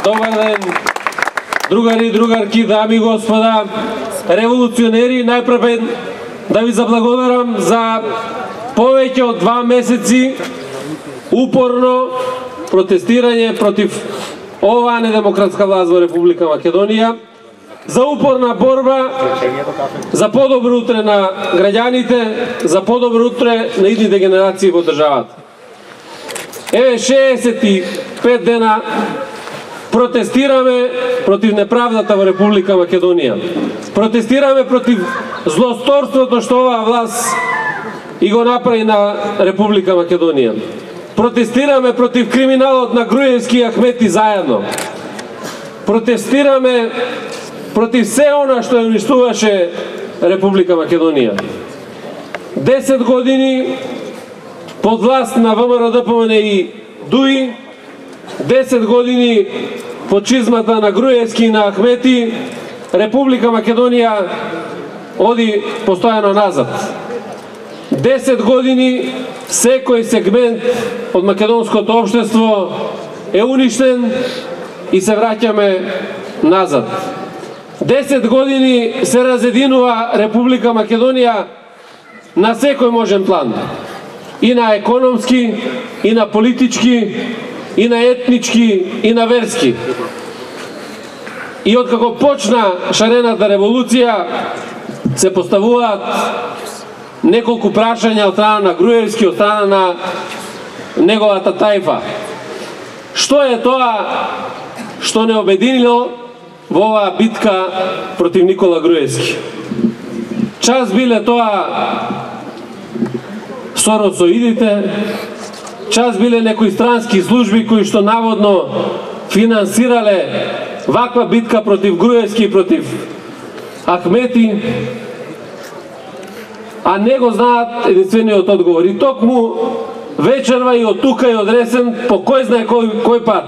Добар ден, другари и другарки, дами и господа, револуционери, најпред да ви заблагодарам за повеќе од 2 месеци упорно протестирање против оваа недемократска власт во Република Македонија, за упорна борба за подобро утре на граѓаните, за подобро утре на идните генерации во државата. Еве 65 дена протестираме против неправдата во Република Македонија. Протестираме против злосторството што оваа власт и го направи на Република Македонија. Протестираме против криминалот на Груевски и Ахмети заедно. Протестираме против се она што ја уништуваше Република Македонија. 10 години под власт на ВМРО ДПМН и ДУИ, 10 години под чизмата на Груевски и на Ахмети, Република Македонија оди постојано назад. 10 години секој сегмент од македонското општество е уништен и се враќаме назад. 10 години се разединува Република Македонија на секој можен план. И на економски, и на политички, и на етнички, и на верски. И откако почна шарената револуција, се поставуваат неколку прашања од страна на Груевски, од страна на неговата тајфа. Што е тоа што не обединило во оваа битка против Никола Груевски? Час биле тоа соросоидите, час биле некои странски служби кои што наводно финансирале ваква битка против Груевски и против Ахмети, а не го знаат единствениот одговор. И токму вечерва и од тука и од Ресен, по кој знае кој пат,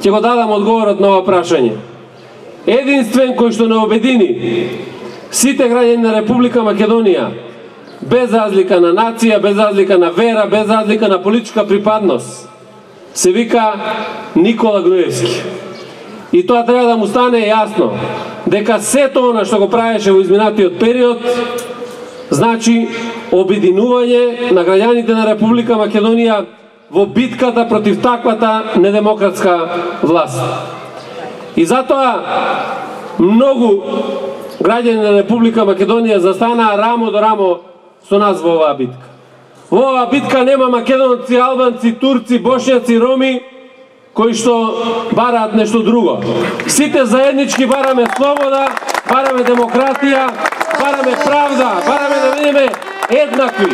ќе го дадам одговорот на ова прашање. Единствен кој што не обедини сите граѓани на Република Македонија, без разлика на нација, без разлика на вера, без разлика на политичка припадност, се вика Никола Груевски. И тоа треба да му стане јасно, дека сето она што го правеше во изминатиот период, значи обединување на граѓаните на Република Македонија во битката против таквата недемократска власт. И затоа многу граѓани на Република Македонија застанаа рамо до рамо со нас во оваа битка. Во оваа битка нема македонци, албанци, турци, бошњаци, роми, кои што бараат нешто друго. Сите заеднички бараме слобода, бараме демократија, бараме правда, бараме да бидеме еднакви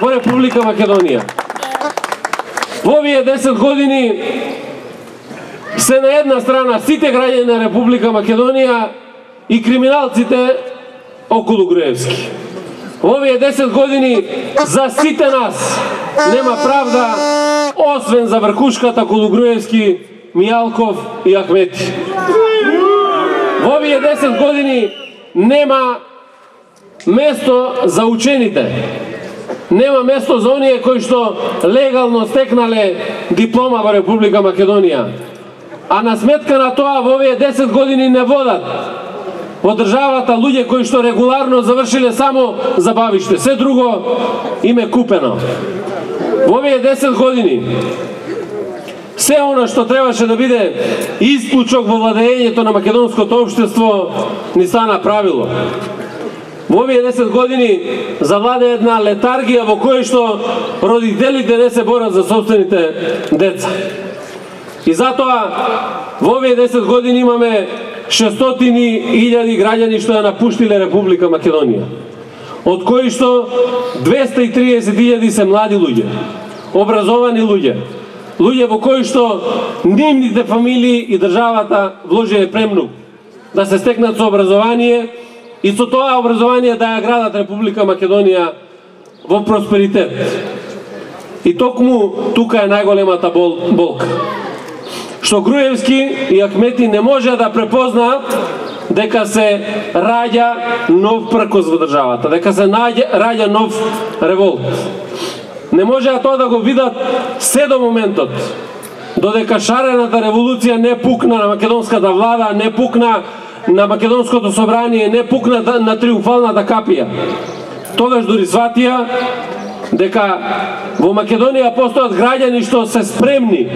во Република Македонија. Во овие 10 години се на една страна сите граѓани на Република Македонија и криминалците околу Груевски. Во овие 10 години за сите нас нема правда, освен за врхушката околу Груевски, Мијалков и Ахмети. Во овие 10 години нема место за учените. Нема место за оние кои што легално стекнале диплома во Република Македонија. А на сметка на тоа во овие 10 години не водат во државата луѓе кои што регуларно завршиле само забавиште. Се друго им е купено. Во овие 10 години се она што требаше да биде исклучок во владењето на македонското општество ни стана правило. Во овие 10 години завладе една летаргија во која што родителите не се борат за собствените деца. И затоа во овие 10 години имаме 600.000 граѓани што ја напуштиле Република Македонија, од кои што 230.000 се млади луѓе, образовани луѓе, луѓе во кои што нивните фамилии и државата вложиле премногу да се стекнат со образование и со тоа образование да ја градат Република Македонија во просперитет. И токму тука е најголемата болка. Што Груевски и Ахмети не може да препознаат дека се раѓа нов пркос во државата, дека се раѓа нов револт. Не можеа тоа да го видат се до моментот додека шарената револуција не пукна на македонската влада, не пукна на македонското собрание, не пукна на триумфалната капија. Тогаш дури сватија дека во Македонија постојат граѓани што се спремни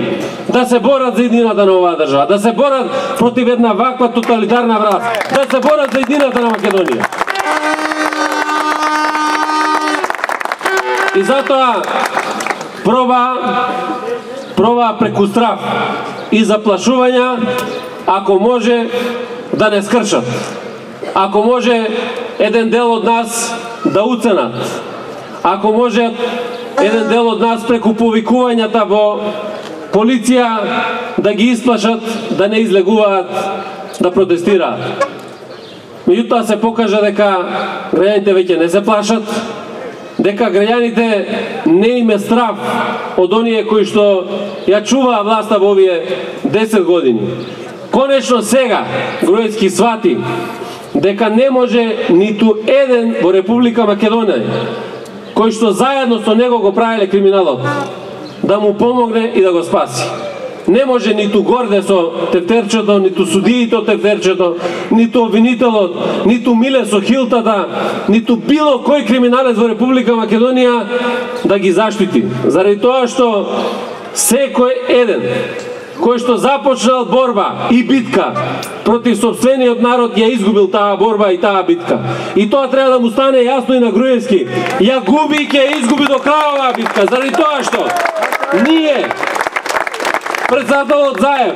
да се борат за едината на оваа држава, да се борат против една ваква тоталитарна власт, да се борат за едината на Македонија. И затоа проба преку страф и заплашувања, ако може да не скршат, ако може еден дел од нас да уценат, ако може еден дел од нас преку повикувањата во полиција да ги исплашат, да не излегуваат, да протестираат. Меѓутоа се покажа дека граѓаните веќе не се плашат, дека граѓаните не им е страв од оние кои што ја чуваа власта во овие 10 години. Конечно сега Груевски свати дека не може ниту еден во Република Македонија кој што заедно со него го правеле криминалот да му помогне и да го спаси. Не може ниту Горде со тефтерчето, ниту судиите од тефтерчето, ниту обвинителот, ниту Миле со хилтата, ниту било кој криминалец во Република Македонија да ги заштити. Заради тоа што секој еден кој што започнал борба и битка против сопствениот народ ја изгубил таа борба и таа битка. И тоа треба да му стане јасно и на Груевски. Ја губи и ќе изгуби до крај оваа битка, заради тоа што ние, председателот Заев,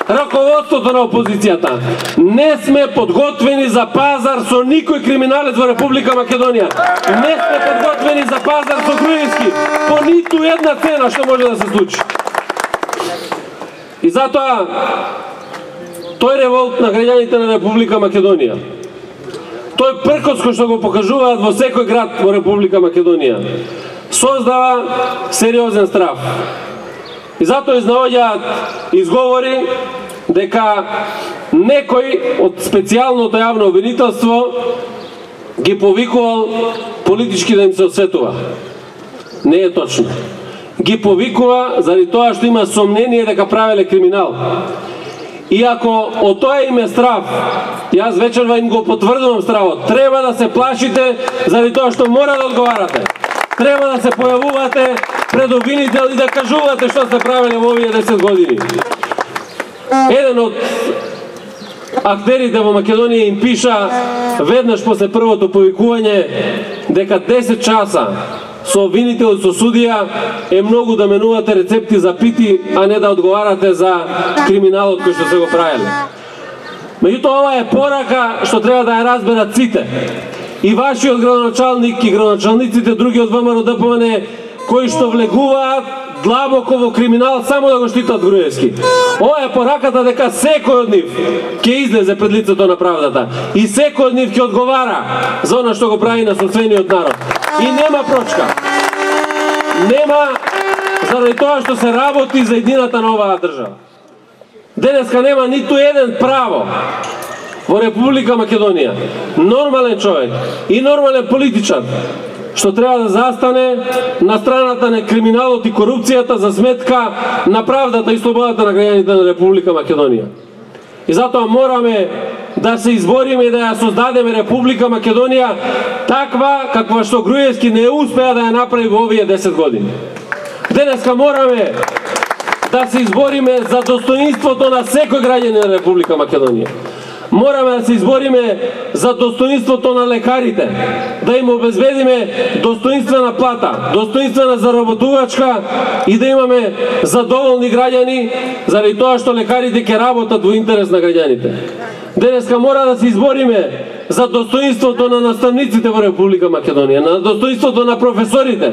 раководството на опозицијата, не сме подготвени за пазар со никој криминалец во Република Македонија. Не сме подготвени за пазар со Груевски по ниту една цена што може да се случи. И затоа тој револт на граѓаните на Република Македонија, тој пркос кој што го покажуваат во секој град во Република Македонија, создава сериозен страф. И затоа изнаоѓаат изговори дека некој од специјалното јавно обвинителство ги повикувал политички да им се осветува. Не е точно. Ги повикува заради тоа што има сомнение дека правеле криминал. И ако од тоа им е страв, јас вечерва им го потврдувам стравот, треба да се плашите заради тоа што мора да одговарате. Треба да се појавувате пред обвинител и да кажувате што сте правеле во овие 10 години. Еден од актерите во Македонија им пиша веднаш после првото повикување дека 10 часа со обвинител и со судија е многу да менувате рецепти за пити, а не да одговарате за криминалот кој што се го правеле. Меѓутоа ова е порака што треба да ја разберат сите. И вашиот градоначалник и градоначалниците други од ВМРО ДПМН кои што влегуваат длабоко во криминал само да го штитат Груевски. Ова е пораката дека секој од нив ќе излезе пред лицето на правдата и секој од нив ќе одговара за она што го прави на сопствениот народ. И нема прочка. Нема заради тоа што се работи за едината на оваа држава. Денеска нема ниту еден право во Република Македонија, нормален човек и нормален политичар, што треба да застане на страната на криминалот и корупцијата за сметка на правдата и слободата на граѓаните на Република Македонија. И затоа мораме да се избориме и да ја создадеме Република Македонија таква каква што Груевски не успеа да ја направи во овие 10 години. Денеска мораме да се избориме за достоинството на секој граѓанин на Република Македонија. Мораме да се избориме за достоинството на лекарите, да им обезбедиме достоинствена плата, достоинствена заработувачка и да имаме задоволни граѓани заради тоа што лекарите ќе работат во интерес на граѓаните. Денеска мора да се избориме за достоинството на наставниците во Република Македонија, на достоинството на професорите,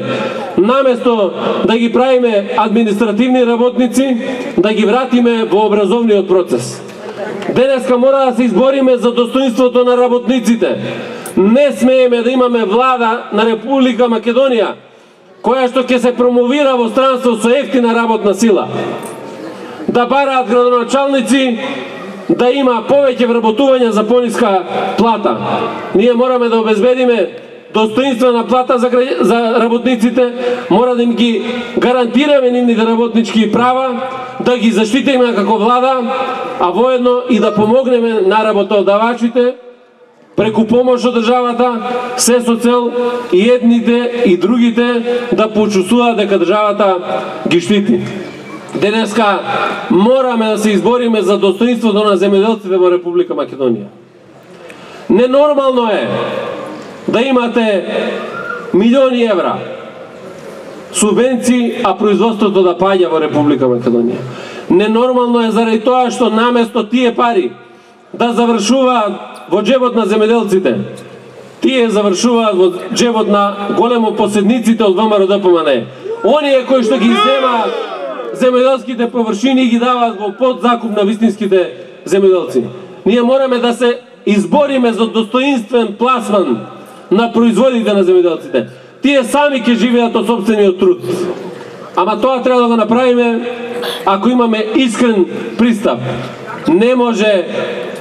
наместо да ги правиме административни работници, да ги вратиме во образовниот процес. Денеска мора да се избориме за достоинството на работниците. Не смееме да имаме влада на Република Македонија која што ќе се промовира во странство со ефтина работна сила. Да бараат градоначалници да има повеќе вработување за пониска плата. Ние мораме да обезбедиме достоинствена плата за работниците, мора да им ги гарантираме нивните работнички права, да ги заштитиме како влада, а воедно и да помогнеме на работодавачите преку помош од државата, се со цел и едните и другите да почувствуваат дека државата ги штити. Денеска мораме да се избориме за достоинството на земјоделците во Република Македонија. Ненормално е да имате милиони евра субвенции, а производството да паѓа во Република Македонија. Ненормално е заради тоа што наместо тие пари да завршуваат во џебот на земјоделците, тие завршуваат во џебот на големо поседниците од ВМРО-ДПМНЕ. Оние кои што ги земаат земјоделските површини и ги даваат во подзакуп на вистинските земјоделци. Ние мораме да се избориме за достоинствен пласман на производите на земјоделците. Тие сами ќе живеат од сопствениот труд. Ама тоа треба да го направиме ако имаме искрен пристап. Не може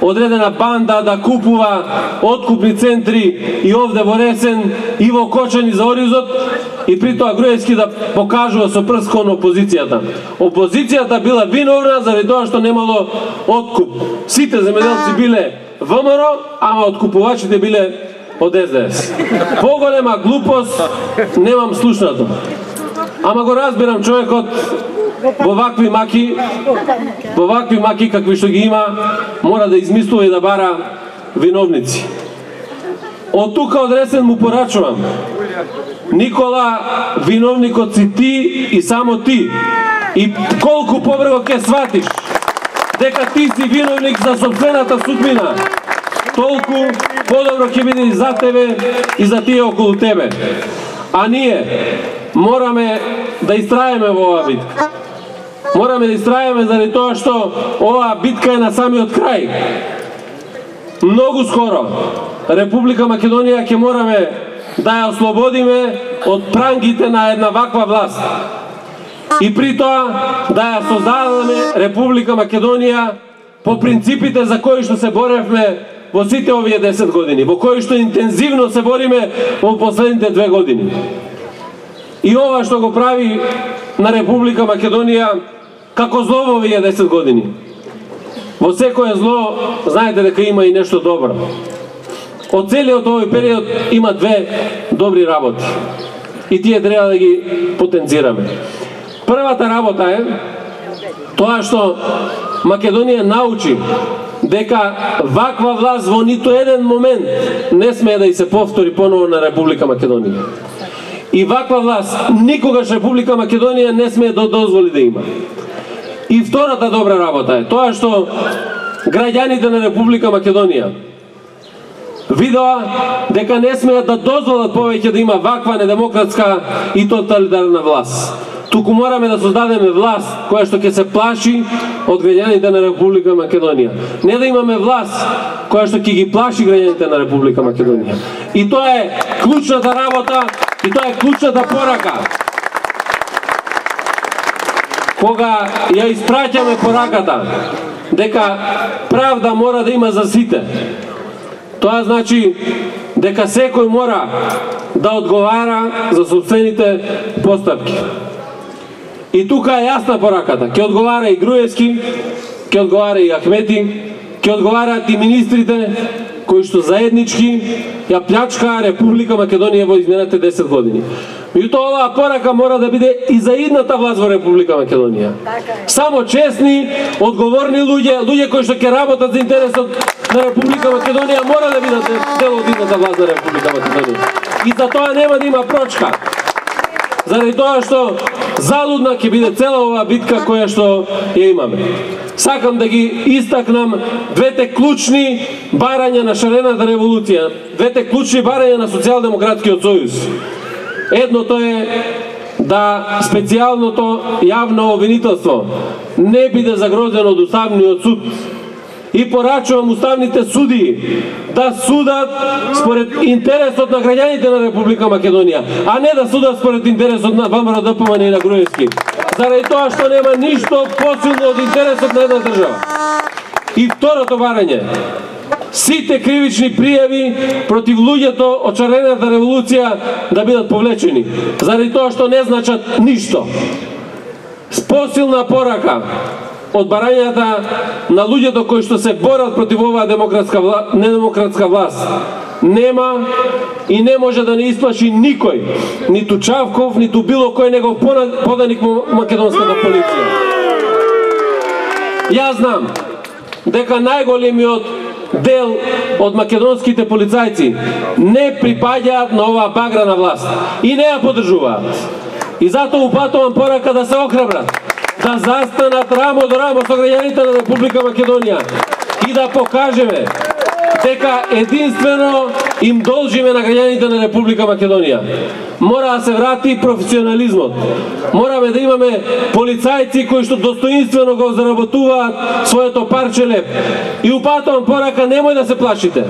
одредена банда да купува откупни центри и овде во Ресен и во Кочани за Оризот и при тоа Груевски да покажува со прст кон опозицијата. Опозицијата била виновна заради тоа што немало откуп. Сите земјоделци биле ВМРО, ама откупувачите биле од СДС. Поголема глупост немам слушнато. Ама го разбирам човекот во вакви маки какви што ги има, мора да измислува и да бара виновници. Од тука од Ресен му порачувам. Никола, виновникот си ти и само ти. И колку побрзо ќе сватиш дека ти си виновник за сопствената судбина, толку подобро ќе биде и за тебе и за тие околу тебе. А ние мораме да истраеме во оваа битка. Мораме да истраеме заради тоа што оваа битка е на самиот крај. Многу скоро Република Македонија ќе мораме да ја ослободиме од прангите на една ваква власт. И при тоа да ја создадеме Република Македонија по принципите за кои што се боревме во сите овие 10 години, во кои што интензивно се бориме во последните 2 години. И ова што го прави на Република Македонија како зло во овие 10 години. Во секое зло, знаете дека има и нешто добро. Од целиот овој период има 2 добри работи. И тие треба да ги потенцираме. Првата работа е тоа што Македонија научи дека ваква власт во ниту еден момент не смее да и се повтори поново на Република Македонија. И ваква власт никогаш Република Македонија не смее да дозволи да има. И втората добра работа е тоа што граѓаните на Република Македонија видоа дека не смеат да дозволат повеќе да има ваква недемократска и тоталитарна власт. Туку мораме да создадеме власт која што ќе се плаши од граѓаните на Република Македонија. Не да имаме власт која што ќе ги плаши граѓаните на Република Македонија. И тоа е клучната работа, и тоа е клучната порака. Кога ја испраќаме пораката дека правда мора да има за сите, тоа значи дека секој мора да одговара за сопствените постапки. И тука е јасна пораката. Ќе одговара и Груевски, ќе одговара и Ахмети, ќе одговараат и министрите кои што заеднички ја плячкаа Република Македонија во изминатите 10 години. Меѓутоа оваа порака мора да биде и за идната власт во Република Македонија. Само честни, одговорни луѓе кои што ќе работат за интересот на Република Македонија мора да бидат дел од идната власт на Република Македонија. И за тоа нема да има прочка. Заради тоа што залудна ќе биде цела оваа битка која што ја имаме. Сакам да ги истакнам двете клучни барања на шарената револуција, двете клучни барања на Социјалдемократскиот сојуз. Едното е да специјалното јавно обвинителство не биде загрозено од Уставниот суд. И порачувам уставните судии да судат според интересот на граѓаните на Република Македонија, а не да судат според интересот на ВМРО-ДПМНЕ и на Груевски. Заради тоа што нема ништо посилно од интересот на една држава. И второто барање, сите кривични пријави против луѓето од Шарената револуција да бидат повлечени, заради тоа што не значат ништо. Посилна порака од барањата на луѓето кои што се борат против оваа недемократска власт нема и не може да не исплаши никој, ниту Чавков, ниту било кој негов поданик македонската полиција. Јас знам дека најголемиот дел од македонските полицајци не припаѓаат на оваа баграна власт и не ја поддржуваат. И затоа упатувам порака да се охрабрат, да застанат рамо до рамо со граѓаните на Република Македонија и да покажеме дека единствено им должиме на граѓаните на Република Македонија. Мора да се врати професионализмот. Мораме да имаме полицајци кои што достоинствено го заработуваат своето парче леп. И упатувам порака, немој да се плашите.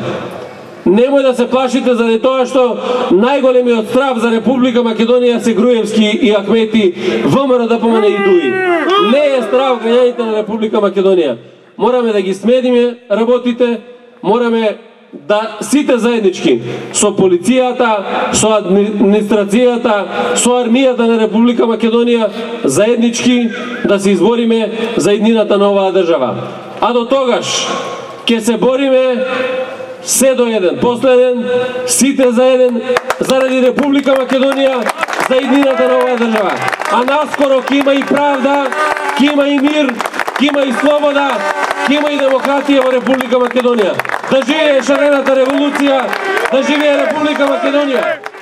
Немој да се плашите заради тоа што најголемиот страв за Република Македонија се Груевски и Ахмети, ВМРО, ДПМН и ДУИ. Не е страв граѓаните на Република Македонија. Мораме да ги смедиме работите, мораме да сите заеднички со полицијата, со администрацијата, со армијата на Република Македонија заеднички да се избориме за иднината на оваа држава. А до тогаш ќе се бориме се до еден, последен, сите заеден, заради Република Македонија, за иднината на оваа држава. А наскоро ќе има и правда, ќе има и мир, ќе има и слобода, ќе има и демократија во Република Македонија. Да живее Шарената револуција, да живее Република Македонија!